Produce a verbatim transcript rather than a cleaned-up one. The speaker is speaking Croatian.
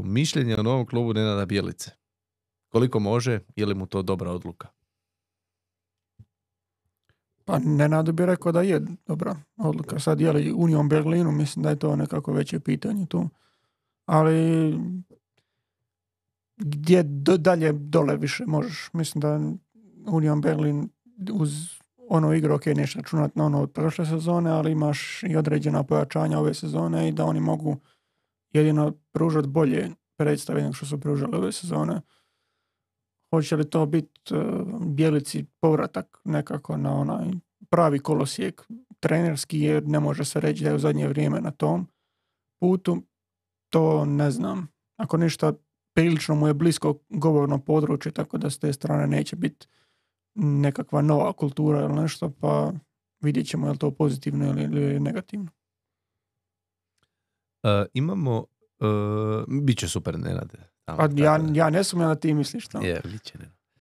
mišljenje o novom klubu Nenada Bjelice. Koliko može, je li mu to dobra odluka? Pa Nenado bi rekao da je dobra odluka. Sad je li Union Berlinu, mislim da je to nekako veće pitanje tu. Ali gdje do, dalje dole više možeš. Mislim da Union Berlin uz ono igro, ok, nešto računati na ono od prošle sezone, ali imaš i određena pojačanja ove sezone i da oni mogu jedino pružati bolje predstave nego što su pružali ove sezone. Hoće li to biti uh, Bjelici povratak nekako na onaj pravi kolosijek trenerski, jer ne može se reći da je u zadnje vrijeme na tom putu, to ne znam. Ako ništa, prilično mu je blisko govorno područje, tako da s te strane neće biti nekakva nova kultura ili nešto, pa vidjet ćemo je li to pozitivno ili, ili negativno. Uh, imamo, uh, bit će super, Nenade. Pa ja, ja ne sumnjam da ti misliš to. Je, bit će, Nenade.